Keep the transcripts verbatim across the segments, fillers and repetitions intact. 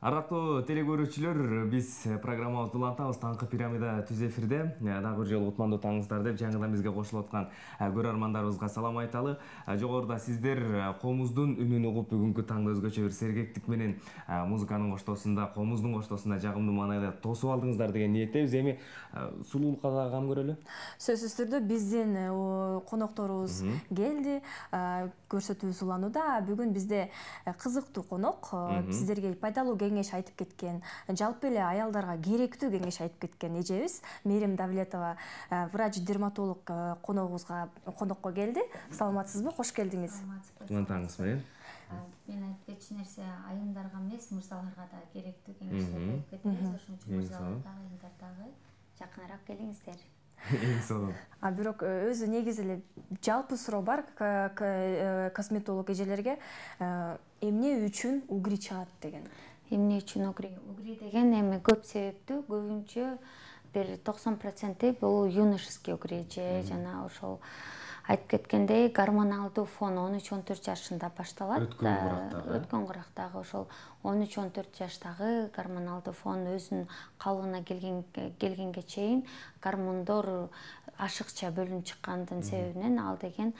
Ардактуу телекөрүүчүлөр, биз программабызды улантабыз. Таңкы пирамида түз эфирде. Дагы бир жолу утмандуу таңыңыздар деп жаңыдан бизге кошулуп аткан көрөрмандарыбызга салам айталы. Жогоруда сиздер комуздун үнүн угуп, бүгүнкү таңда өзгөчө бир сергектик менен музыканын коштоосунда, комуздун коштоосунда жагымдуу маанайда тосуп алдыңыздар деген ниеттебиз. Эми сулуулукка дагы кам көрөлү. Сөзсүз түрдө биздин конокторубуз келди, көрсөтүүбүз уланууда. Бүгүн бизде кызыктуу конок, сиздерге пайдалуу кеңеш айтып кеткен, жалпы эле аялдарга керектүү кеңеш айтып кеткен эжебиз Мээрим Давлетова, врач-дерматолог коногубузга конокко келди. Саламатсызбы? Кош келдиңиз. Кутман таңыңыз менен. Мен айтып кетчү нерсе айымдарга эмес, мырзаларга да керектүү кеңештерди айтып кетебиз. Ошон үчүн мырзалар дагы, айымдар дагы жакыныраак келиңиздер. Эң сонун. А бирок өзү негизи эле жалпы суроо бар косметолог эжелерге, эмне үчүн угри чыгат деген. Эмне үчүн угри? Угри деген эми көп себептүү, көбүнчө бир токсон проценти бул юношеский угри же жана ошол айтып кеткендей гормоналдуу фон он үч он төрт жашында башталат. Өткөн курактагы. Өткөн курактагы ошол он үч он төрт жаштагы гормоналдуу фон өзүнүн калыбына келген келгенге чейин гормондор ашыкча бөлүнүп чыккандын себебинен ал деген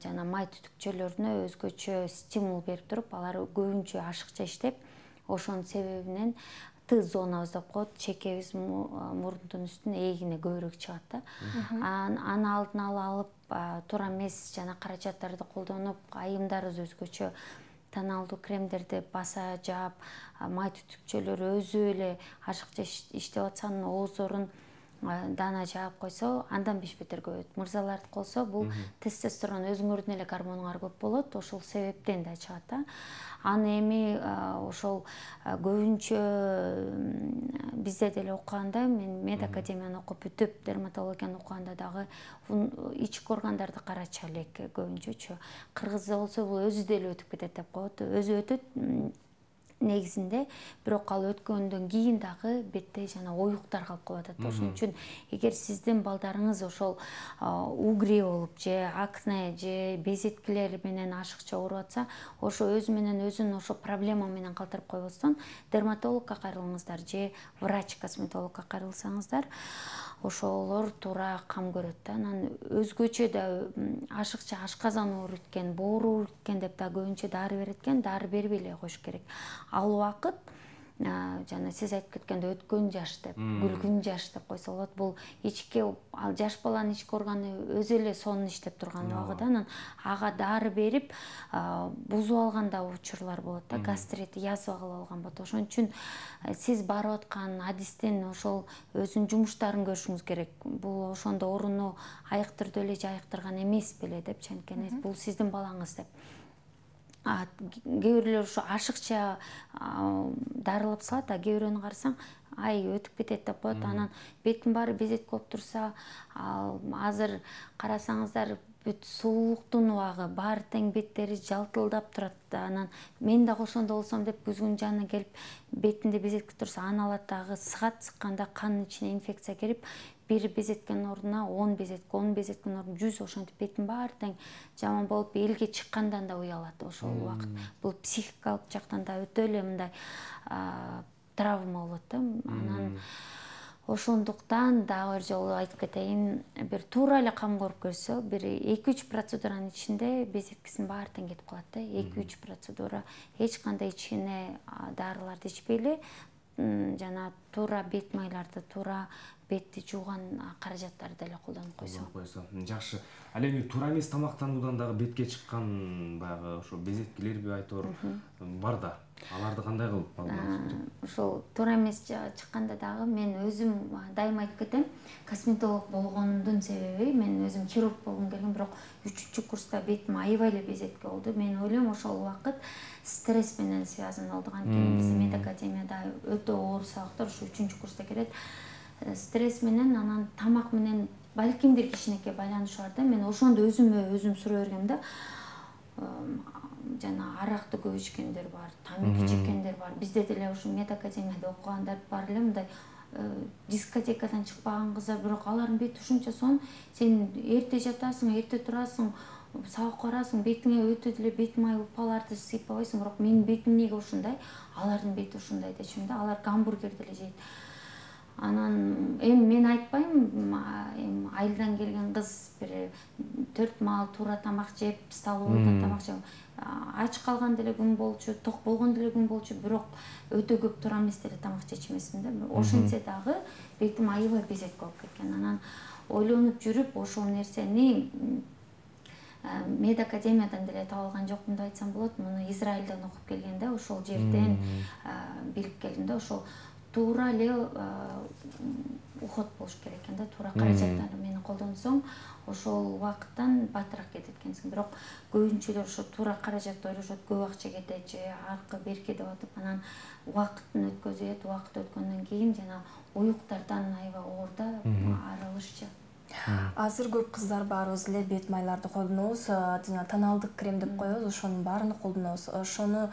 жана май түтүкчөлөрүнө өзгөчө стимул берип туруп, алар көбүнчө ашыкча иштеп, ошонун себебинен Т зонабыз деп коет, чекебиз мурдун үстүнө эгине көбүрөөк чыгат да. Аны алдын ала алып, туура эмес жана каражаттарды колдонуп, айымдарыбыз өзгөчө тоналдуу кремдерди баса жаап, май түтүкчөлөрү өзү эле ашыкча иштеп атса, анын оозорун дана жаап койсо, андан бешбетер көбөйөт. Мырзалардыкы болсо, бул тестостерон өзүңөрдүн эле гормонуңар көп болот, ошол себептен да чыгат да. Аны эми ошол көбүнчө бизде деле окуганда, мен мед академияны окуп бүтүп, дерматологияны окуганда дагы ички органдарды карачу элек көбүнчөчү. Кыргызда болсо бул өзү деле өтүп кетет деп коет. Өзү өтөт негизинде, бирок ал өткөндөн кийин дагы бетте жана оюктар калып калып атат. Ошон үчүн эгер сиздин балдарыңыз ошол угри болуп же акне же безеткилер менен ашыкча ооруп атса, ошо өзү менен өзүн ошо проблема менен калтырып койбостон дерматологко кайрылыңыздар же врач-косметологко кайрылсаңыздар, ошолор туура кам көрөт да. Анан өзгөчө да ашыкча ашказан ооруткен, боору ооруткен деп да көбүнчө дары берет экен, дары бербей эле коюш керек. Ал убакыт жана сиз айтып кеткенде өткөн жаш деп, күлгүн жаш деп койсо болот. Бул ички, ал жаш баланын ички органы өзү эле сонун иштеп турган убагыт. Анан ага дары берип бузуп алган да учурлар болот да, гастрит, язва кылып алган болот. Ошон үчүн сиз барып аткан адистен ошол өзүнүн жумуштарын көрүшүңүз керек. Бул ошондо ооруну айыктырды эле же айыктырган эмес беле деп, анткени бул сиздин балаңыз деп. Кээ бирлер ошо ашыкча дарылап салат, а кээ бирөөнү карасаң, ай өтүп кетет деп коет. Анан беттин баары безетке болуп турса, азыр карасаңыздар бүт сулуулуктун убагы, баары тең беттери жалтылдап турат. Анан мен дагы ошондо болсом деп күзгүнүн жанына келип, бетинде безетке турса, аны алат дагы сыгат, сыкканда канын ичине инфекция кирип, бир безеткенин ордуна он безетке, он безеткенин ордуна жүз, ошентип беттин баары тең жаман болуп, элге чыккандан да уялат ошол убакыт. Бул психикалык жактан да өтө эле мындай травма болот да. Анан ошондуктан дагы бир жолу айтып кетейин, бир туура эле кам көрүп көрсө, бир эки үч процедуранын ичинде безеткесинин баары тең кетип калат да. эки үч процедура, эч кандай ичине дарыларды ичпей эле жана туура бет майларды, туура бетти жууган каражаттарды деле колдонуп койсо. Жакшы. Ал эми туура эмес тамактануудан дагы бетке чыккан баягы ошо безеткилерби айтор бар да. Аларды кандай кылып алдыңыз керек? Ошол туура эмес чыкканда дагы мен өзүм дайыма айтып кетем, косметолог болгондун себеби, мен өзүм хирург болгум келген, бирок үчүнчү курста бетим аябай эле безетке болду. Мен ойлойм, ошол убакыт стресс менен связан болду. Анткени бизде мед академияда өтө оор сабактар ушу үчүнчү курста келет. Стресс менен, анан тамак менен балким бир кичинекей байланышы бар да. Мен ошондо өзүмө өзүм суроо бергем да. Жана аракты көп ичкендер бар, тамеки чеккендер бар. Бизде деле ушу мед академияда окугандар бар эле, мындай дискотекадан чыкпаган кыздар, бирок алардын бети ушунча сонун. Сен эрте жатасың, эрте турасың, сабак барасың, бетиңе өтө деле бет май упаларды сыйпабайсың, бирок менин бетим эмнеге ушундай, алардын бети ушундай дечүм да. Алар гамбургер деле жейт. Анан эми мен айтпайм, эми айылдан келген кыз бир төрт маал туура тамак жеп, столовойдон тамак жеп, ач калган деле күн болчу, ток болгон деле күн болчу, бирок өтө көп туура эмес деле тамак жечмесин да. Ошентсе дагы бетим аябай безек болуп кеткен. Анан ойлонуп жүрүп ошол нерсени медакадемиядан деле таап алган жокмун деп айтсам болот. Муну Израилден окуп келген да, ошол жерден билип келдим да. Ошол туура эле уход болуш керек экен да. Туура каражаттарды мени колдонсоң, ошол убакыттан баатыраак кетет экенсиң. Бирок көбүнчөлөр ошо туура каражатты ойлошот, көп акча кетет же аркы берки деп атып, анан убакытын өткөзөт. Убакыт өткөндөн кийин жана уюктардан аябай оор да, арылышчы. Азыр көп кыздар баарыбыз эле бет майларды колдонобуз, жана тоналдык крем деп коебуз, ошонун баарын колдонобуз. Ошону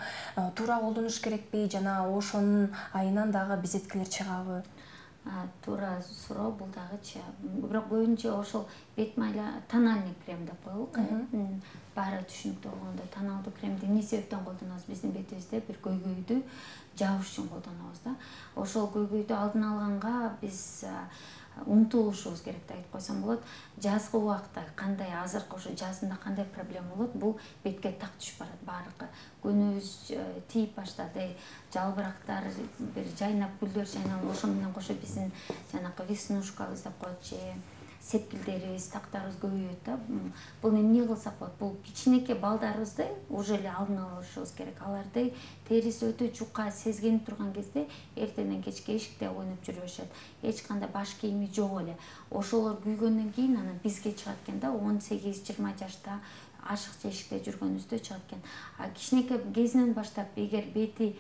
туура колдонуш керекпи, жана ошонун айынан дагы безеткилер чыгабы? Туура суроо бул дагычы. Бирок көбүнчө ошол бет майла тональный крем деп коелук. Баары түшүнүктүү болгондо тоналдык кремди эмне себептен колдонобуз? Биздин бетибизде бир көйгөйдү жабыш үчүн колдонобуз да. Ошол көйгөйдү алдын алганга биз умтулушубуз керек деп айтып койсом болот. Жазгы убакта кандай, азыркы ошо жазында кандай проблема болот? Бул бетке так түшүп барат баарыкы. Күнүбүз тийип баштады, жалбырактар бир жайнап, гүлдөр жайнап, ошо менен кошо биздин жанакы веснушкабыз деп коет же сепкилдерибиз, тактарыбыз көбөйөт да. Бул эмне кылсак болот? Бул кичинекей балдарыбызды уже эле алдын алышыбыз керек. Аларды териси өтө жука сезгенип турган кезде эртеден кечке эшикте ойноп жүрө башат. Эч кандай баш кийими жок эле. Ошолор күйгөндөн кийин анан бизге чыгат экен да, он сегиз жыйырма жашта ашыкча эшикте жүргөнүбүздө чыгат экен. А кичинекей кезинен баштап эгер бети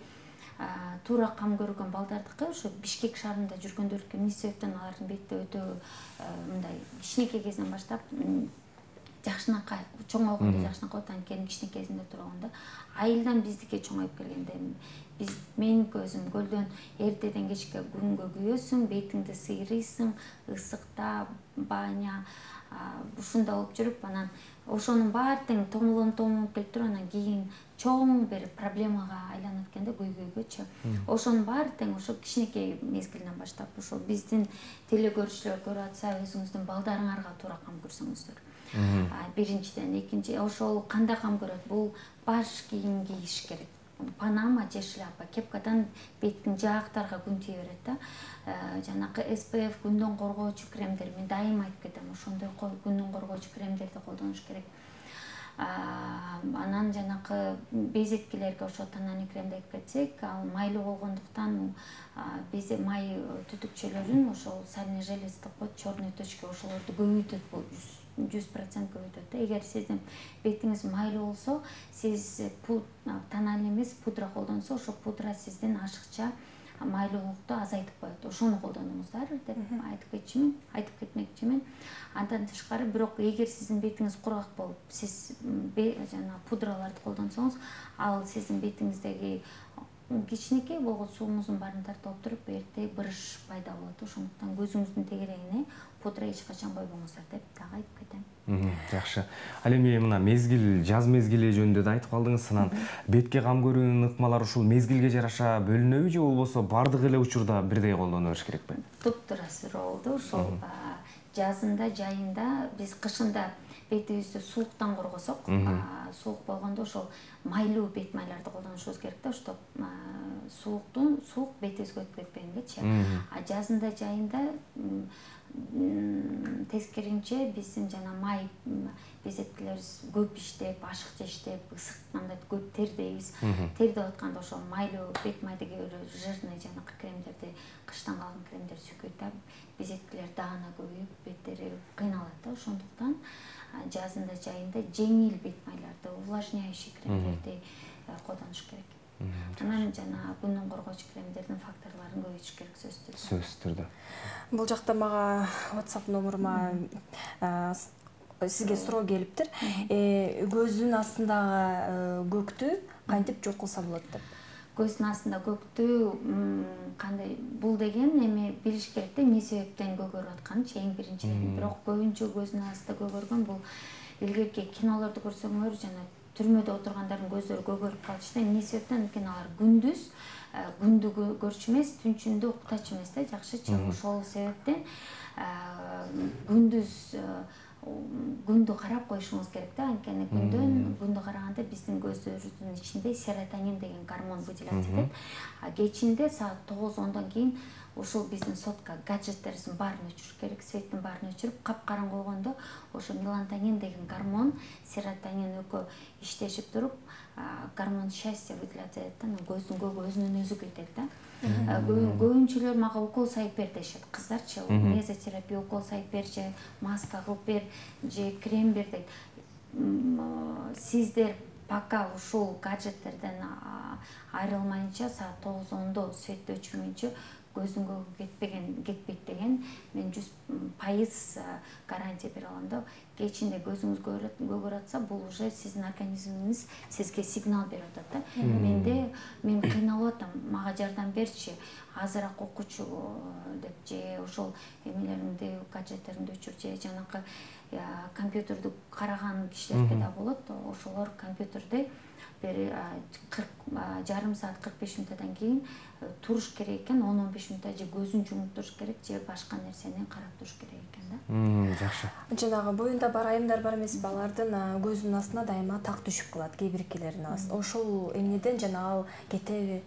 туура кам көргөн балдардыкы, ошо Бишкек шаарында жүргөндөрдүкү эмне себептен алардын бетти өтө мындай кичинекей кезинен баштап жакшынакай, чоңойгондо жакшынакай болот, анткени кичинекей кезинде турган да. Айылдан биздики чоңоюп келгенде биз менин көзүм көлдөн эртеден кечке күнгө күйөсүң, бетиңди сыйрыйсың, ысыкта, баня, ушунда болуп жүрүп, анан ошонун баары тең томолонуп томолонуп келип туруп, анан кийин чоң бир проблемага айланып экен да, көйгөйгөчү. Ошонун баары тең ошо кичинекей мезгилинен баштап, ошо биздин телекөрүүчүлөр көрүп атса, өзүңүздүн балдарыңарга туура кам көрсөңүздөр. Биринчиден, экинчи, ошол кандай кам көрөт? Бул баш кийим кийиш керек. Панама же шляпа, кепкадан беттин жаактарга күн тие берет да. Жанакы эс пэ эф күндөн коргоочу кремдер, мен дайыма айтып кетем, ошондой күндөн коргоочу кремдерди колдонуш керек. Анан жанакы безеткилерге ошо тональный кремди айтып кетсек, ал майлуу болгондуктан безе май түтүкчөлөрүн ошол сальный желез деп коет, черный точки, ошолорду көбөйтөт, бул жүз процент көбөйтөт да. Эгер сиздин бетиңиз майлуу болсо, сиз тональный эмес, пудра колдонсо, ошо пудра сиздин ашыкча майлуулукту азайтып коет. Ошону колдонуңуздар деп айтып кетчүмүн, айтып кетмекчимин. Андан тышкары, бирок эгер сиздин бетиңиз кургак болуп, сиз жана пудраларды колдонсоңуз, ал сиздин бетиңиздеги кичинекей болгон суумуздун баарын тартып алып туруп, эрте бырыш пайда болот. Ошондуктан көзүңүздүн тегерегине пудра эч качан койбоңуздар деп дагы айтып кетем. Жакшы. Ал эми мына мезгил, жаз мезгили жөнүндө да айтып калдыңыз. Анан бетке кам көрүүнүн ыкмалары ушул мезгилге жараша бөлүнөбү же болбосо бардык эле учурда бирдей колдоно бериш керекпи? Туптуура суроо болду. Ошол жазында, жайында, биз кышында бетибизди сууктан коргосок, суук болгондо ошол майлуу бет майларды колдонушубуз керек да, чтобы сууктун суук бетибизге өтүп кетпегенчи. А жазында, жайында тескеринче биздин жана май безеткилерибиз көп иштеп, ашыкча иштеп, ысыкканда көп тердейбиз. Тердеп атканда ошол майлуу бет майдыгы жирный жанакы кремдерди, кыштан калган кремдерди сүкөйт да, безеткилер даана көбөйүп, беттери кыйналат да. Ошондуктан жазында, жайында жеңил бет майларды, увлажняющий кремдерди колдонуш керек. Анан жана күндөн коргоочу кремдердин факторлорун көбөйтүш керек, сөзсүз түрдө. Сөзсүз түрдө. Бул жакта мага WhatsApp номурума сизге суроо келиптир. Көздүн астындагы көктү кантип жок кылса болот деп. Көздүн астында көктү кандай, бул деген эми билиш керек да, эмне себептен көгөрүп атканычы эң биринчиден. Бирок көбүнчө көздүн астында көгөргөн бул илгерки кинолорду көрсөңөр жана түрмөдө отургандардын көздөрү көгөрүп калчу да. Эмне себептен? Анткени алар күндүз күндү көрчү эмес, түнчүндө уктачу эмес да, жакшычы. Ошол себептен күндүз күндү карап коюшуңуз керек да. Анткени күндөн күндү караганда биздин көздөрүбүздүн ичинде серотонин деген гормон выделяться этет. А кечинде саат тогуз ондон кийин ушул биздин сотка гаджеттерибиздин баарын өчүрүш керек, светтин баарын өчүрүп, капкараңгы болгондо ошо мелатонин деген гормон, серотонин экөө иштешип туруп, гормон счастья выделяться этет да. Көздүн көгү өзүнөн өзү кетет да. Көбүнчөлөр мага укол сайып бер дешет, кыздарчы, мезотерапия укол сайып бер же маска кылып бер же крем бер дейт. Сиздер пока ушул гаджеттерден айрылмайынча, саат тогуз ондо светти өчүрмөйүнчө көздүн көгү кетпеген кетпейт деген мен жүз пайыз гарантия бере алам да. Кечинде көзүңүз көгөрүп атса, бул уже сиздин организмиңиз сизге сигнал берип атат да. Менде мен кыйналып атам, мага жардам берчи, азыраак окучу деп же ошол эмелериңди, гаджеттериңди өчүр же жанакы компьютерди караган кишилерге да болот. Ошолор компьютерде бир жарым саат кырк беш мүнөттөн кийин туруш керек экен, он он беш мүнөттө же көзүн жумуп туруш керек, же башка нерсени карап туруш керек экен да. Жакшы. Жанагы боюнда бар айымдар бар эмеспи, алардын көзүнүн астына дайыма так түшүп калат, кээ биркилердин астына. Ошол эмнеден жана ал кетеби?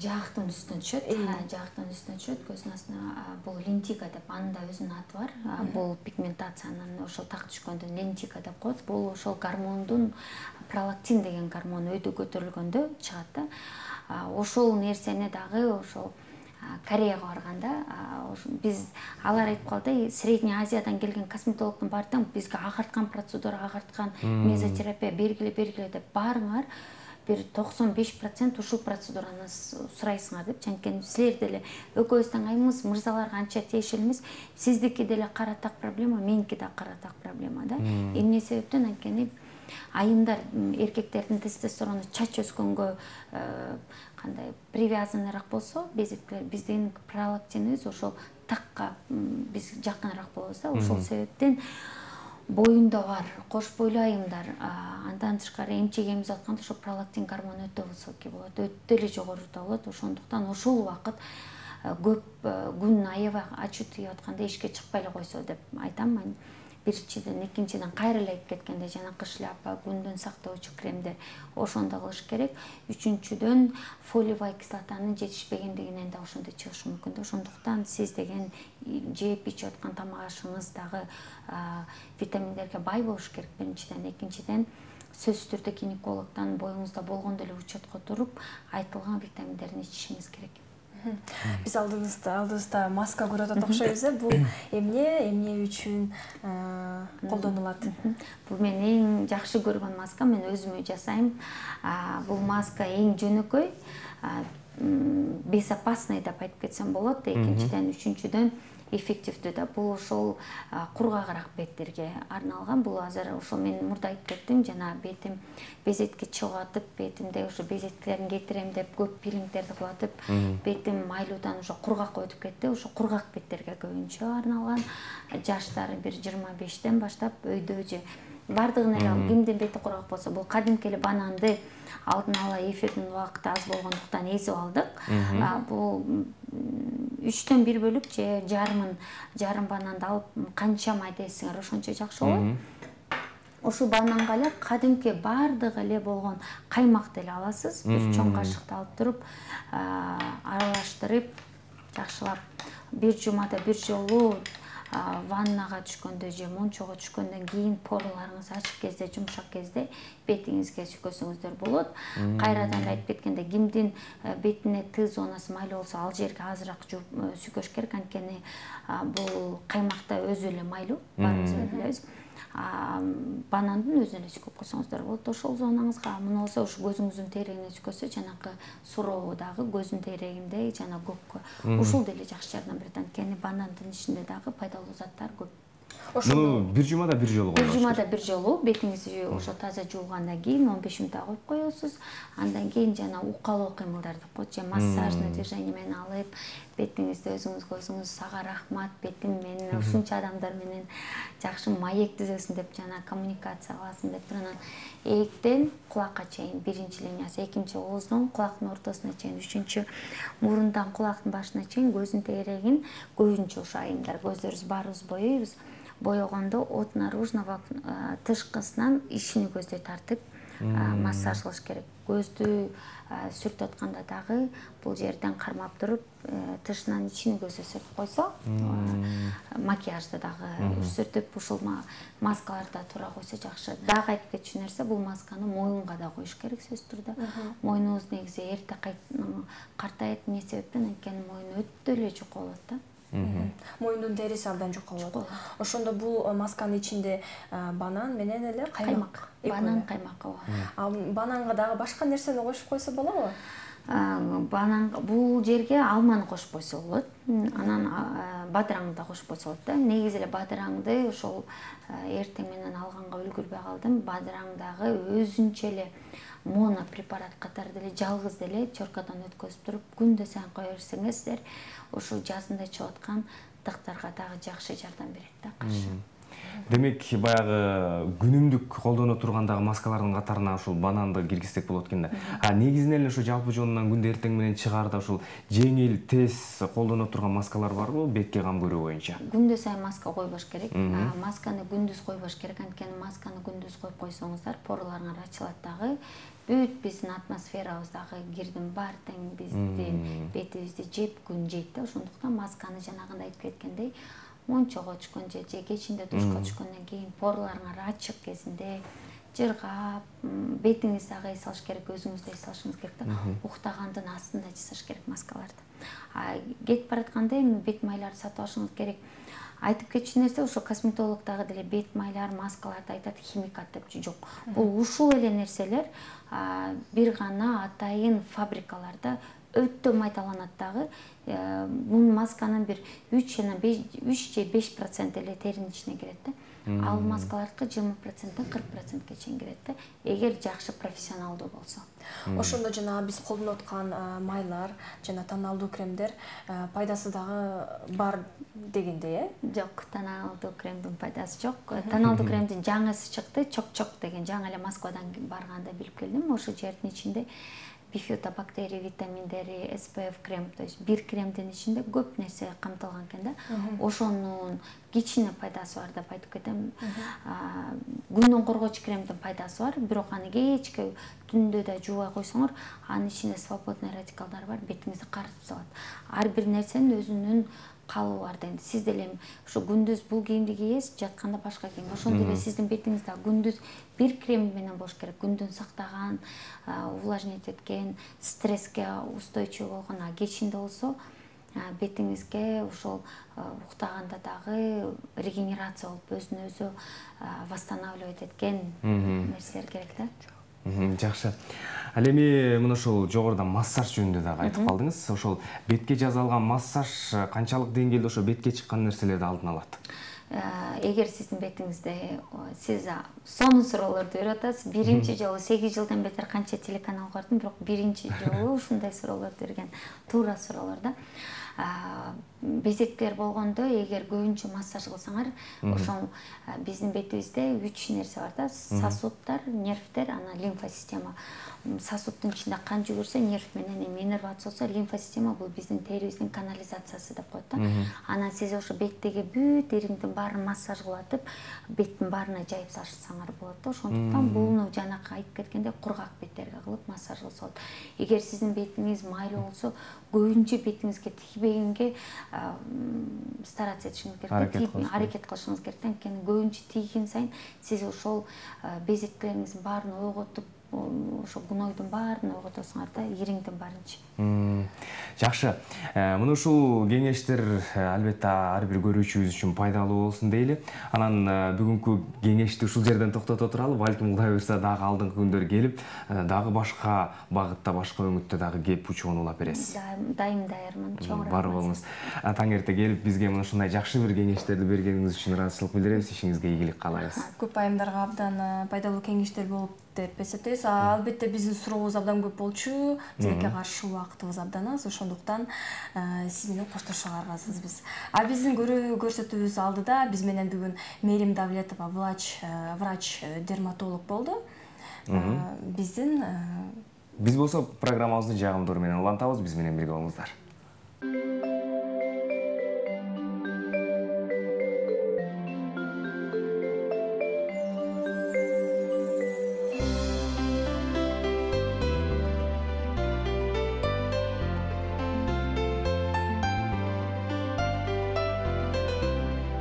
Жаактын үстүнө түшөт, жаактын үстүнө түшөт, көзүнүн астына. Бул лентика деп, анын да өзүнүн аты бар. Бул пигментациянын ошол так түшкөндөн лентика деп коет. Бул ошол гормондун пролактин деген гормон өйдө көтөрүлгөндө чыгат да. Ошол нерсени дагы ошол Кореяга барганда биз алар айтып калды, Средний Азиядан келген косметологдун баары тең бизге агарткан процедура, агарткан мезотерапия бергиле бергиле деп барыңар, бир токсон беш процент ушул процедураны сурайсыңар деп. Анткени силер деле экөөбүз айымыз, мырзаларга анча тиешелүү эмес. Сиздики деле кара так проблема, меники да кара так проблема да. Эмне себептен? Анткени айымдар, эркектердин тестостерону чач өскөнгө кандай привязанныраак болсо, безеткилер, биздин пролактинибиз ошол такка биз жакыныраак болобуз да. Ошол себептен боюнда бар кош бойлуу айымдар, андан тышкары эмчек эмизип атканда ошо пролактин гормону өтө высокий болот, өтө эле жогоруда болот. Ошондуктан ошол убакыт көп күн аябай ачуу тийип атканда эшикке чыкпай эле койсо деп айтам. Биринчиден, экинчиден кайра эле айып кеткенде жанакы шляпа, күндөн сактоочу кремдер ошондо кылыш керек. Үчүнчүдөн фолиевый кислотанын жетишпегендигинен да ошондо чыгышы мүмкүн да. Ошондуктан сиз деген жеп ичип аткан тамак ашыңыз дагы витаминдерге бай болуш керек биринчиден. Экинчиден, сөзсүз түрдө гинекологдон боюңузда болгондо эле учетко туруп айтылган витаминдерди ичишиңиз керек. Биз алдыбызда алдыбызда маска көрүп атат окшойбуз. Бул эмне, эмне үчүн колдонулат? Бул мен эң жакшы көргөн маска, мен өзүмө жасайм. Бул маска эң жөнөкөй, безопасный деп айтып кетсем болот. Экинчиден, үчүнчүдөн эффективдүү да. Бул ошол кургагыраак беттерге арналган. Бул азыр ошол мен мурда айтып кеттим, жана бетим безетке чыгып атып, бетимде ошо безеткилерин кетирем деп көп пилингдерди кылатып, бетим майлуудан ошо кургакка өтүп кетти. Ошо кургак беттерге көбүнчө арналган. Жаштары бир жыйырма бештен баштап өйдө же бардыгын эле кимдин бети кургак болсо, бул кадимки эле бананды алдын ала эфирдин убакыты аз болгондуктан эзип алдык. Бул үчтөн бир бөлүк же жарымын жарым бананды алып канча майда эзсеңер ошончо жакшы болот. Ошол бананга эле кадимки бардыгы эле болгон каймакты эле аласыз. Бир чоң кашыкты алып туруп, аралаштырып, жакшылап бир жумада бир жолу ваннага түшкөндө же мончого түшкөндөн кийин порларыңыз ачык кезде, жумшак кезде бетиңизге сүкөсөңүздөр болот. Кайрадан айтып кеткенде, кимдин бетине Т зонасы майлуу болсо, ал жерге азыраак сүкөш керек. Анткени бул каймакта өзү эле майлуу, баарыбыз эле билебиз. Банандын өзүнө эле сүкөп койсоңуздар болот. Ошол зонаңызга, муну болсо ушу көзүңүздүн терегине сүкөсө, жанакы суроо дагы көздүн терегинде жана көккө ушул деле жакшы жардам берет. Анткени банандын ичинде дагы пайдалуу заттар көп. Ну, бир жумада бир жолу бир жумада бир жолу бетиңизди ошо таза жуугандан кийин он беш мүнөт коюп коесуз. Андан кийин жана укалоо кыймылдар деп коет, же массажный движение менен алып, бетиңизди өзүңүзгө өзүңүз сага рахмат, бетим менен ушунча адамдар менен жакшы маек түзөсүн деп жана коммуникация кыласың деп анан ээктен кулакка чейин биринчи линиясы, экинчи ооздон кулактын ортосуна чейин, үчүнчү мурундан кулактын башына чейин, көздүн тегерегин көбүнчө ошо айымдар көздөрүбүз баарыбыз боейбиз. Боёгондо от наружного тышкысынан ичини көздөй тартып массаж кылыш керек. Көздү сүртүп атканда дагы бул жерден кармап туруп, тышынан ичини көздөй сүртүп койсо, макияжды дагы сүртүп, ушул маскаларды туура койсо жакшы. Дагы айтып кетчү нерсе, бул масканы моюнга да коюш керек сөзсүз түрдө. Мойнубуз негизи эрте картайт, эмне себептен анткени мойун өтө эле жука болот да. Мойундун териси абдан жука болот. Ошондо бул масканын ичинде банан менен эле каймак. Банан, каймак. Ал бананга дагы башка нерсени кошуп койсо болобу? Банан бул жерге алманы кошуп койсо болот. Анан бадыраңды да кошуп койсо болот да. Негизи эле бадыраңды ошол эртең менен алганга үлгүрбөй калдым. Бадыраң дагы өзүнчө эле моно препарат катары деле жалгыз деле чоркадан өткөзүп туруп, күндө сайын кое берсеңиздер, ушул жазында чыгып аткан тыктарга дагы жакшы жардам берет да, каршы. Демек, баягы күнүмдүк колдоно тургандагы маскалардын катарына ушул бананды киргизсек болот экен да. А негизинен эле ушу жалпы жонунан күндө эртең менен чыгаарда ушул жеңил, тез колдоно турган маскалар барбы бетке кам көрүү боюнча? Күндө сайын маска койбош керек. Масканы күндүз койбош керек, анткени масканы күндүз коюп койсоңуздар, порларыңар ачылат дагы. Бүт биздин атмосферабыздагы кирдин бар тең биздин бетибизди жеп, күн жейт да. Ошондуктан масканы жанагындай айтып кеткендей, мончого түшкөн же кечинде душка түшкөндөн кийин порларыңар ачык кезинде жыргап, бетиңизди дагы эс алыш керек, өзүңүздү эс алышыңыз керек да. Уктагандын астында жасаш керек маскаларды. А кетип баратканда эми бет майларды сатып алышыңыз керек. Айтып кетчү нерсе, ошо косметолог дагы деле бет майлар, маскаларды айтат, химикат деп жок. Бул ушул эле нерселер бир гана атайын фабрикаларда өтө майдаланат дагы. Бул масканын бир үч же беш процент эле теринин ичине кирет да. Ал маскалардыкы жыйырма проценттен кырк процентке чейин кирет да, эгер жакшы профессионалдуу болсо. Ошондо жана биз колдонуп аткан майлар жана тоналдуу кремдер пайдасы дагы бар дегендей, э? Жок, тоналдуу кремдин пайдасы жок. Тоналдуу кремдин жаңысы чыкты, чок-чок деген, жаңы эле Москвадан барганда билип келдим. Ошо жердин ичинде бифидобактерия витаминдери, эс пэ эф крем, то есть бир кремдин ичинде көп нерсе камтылган экен да. Ошонун кичине пайдасы бар деп айтып кетем. Күндөн коргоочу кремдин пайдасы бар, бирок аны кечке түндө да жуубай койсоңор, анын ичинде свободный радикалдар бар, бетиңизди карытып салат. Ар бир нерсенин өзүнүн калыбы бар да. Сиз деле ушу күндүз бул кийимди кийесиз, жатканда башка кийим. Ошондой эле сиздин бетиңиз да күндүз бир крем менен болуш керек. Күндөн сактаган, увлажнить эткен, стресске устойчивый болгон, а кечинде болсо бетиңизге ошол уктаганда дагы регенерация болуп, өзүн өзү восстанавливать эткен нерселер керек да. Жакшы. Ал эми мына ошол жогоруда массаж жөнүндө дагы айтып калдыңыз. Ошол бетке жасалган массаж канчалык деңгээлде ошо бетке чыккан нерселерди алдын алат? Эгер сиздин бетиңизде сиз сонун суроолорду берип атасыз, биринчи жолу сегиз жылдан бетер канча телеканал көрдүм, бирок биринчи жолу ушундай суроолорду берген, туура суроолор да. Безектер болгондо, эгер көбүнчө массаж кылсаңар, ошол биздин бетибизде үч нерсе бар да, сосудтар, нервтер, анан лимфосистема. Сосудтун ичинде кан жүгүрсө, нерв менен эми иннервация болсо, лимфосистема бул биздин терибиздин канализациясы деп коет да. Анан сиз ошо беттеги бүт ириңдин баарын массаж кылатып, беттин баарына жайып салсаңар болот да. Ошондуктан буну жанакы айтып кеткенде кургак беттерге кылып массаж кылса болот. Эгер сиздин бетиңиз майлуу болсо, көбүнчө бетиңизге тийбегенге стараться этишиңиз керек, аракет кылышыңыз керек. Анткени көбүнчө тийген сайын сиз ошол безеткилериңиздин баарын ойготуп, ошо гнойдун баарын ойготосуңар да, ириңдин баарынчы. Жакшы. Мына ушул кеңештер албетте ар бир көрүүчүбүз үчүн пайдалуу болсун дейли. Анан бүгүнкү кеңешти ушул жерден токтото туралы. Балким Кудай буйрса дагы алдыңкы күндөр келип, дагы башка багытта, башка өңүттө дагы кеп учууну улап бересиз. Дайым даярмын. Чоң рахмат. Бар болуңуз. Таң эрте келип бизге мына ушундай жакшы бир кеңештерди бергениңиз үчүн ыраазычылык билдиребиз. Ишиңизге ийгилик каалайбыз. Көп айымдарга абдан пайдалуу кеңештер болуп деп эсептейбиз. Албетте биздин сурообуз абдан көп болчу, тилекке каршы убактыбыз абдан аз, ошондуктан сиз менен коштошууга аргасызбыз. А биздин көрүү көрсөтүүбүз алдыда биз менен бүгүн Мээрим Давлетова врач врач дерматолог болду. Биздин биз болсо программабызды жагымдуу менен улантабыз. Биз менен бирге болуңуздар.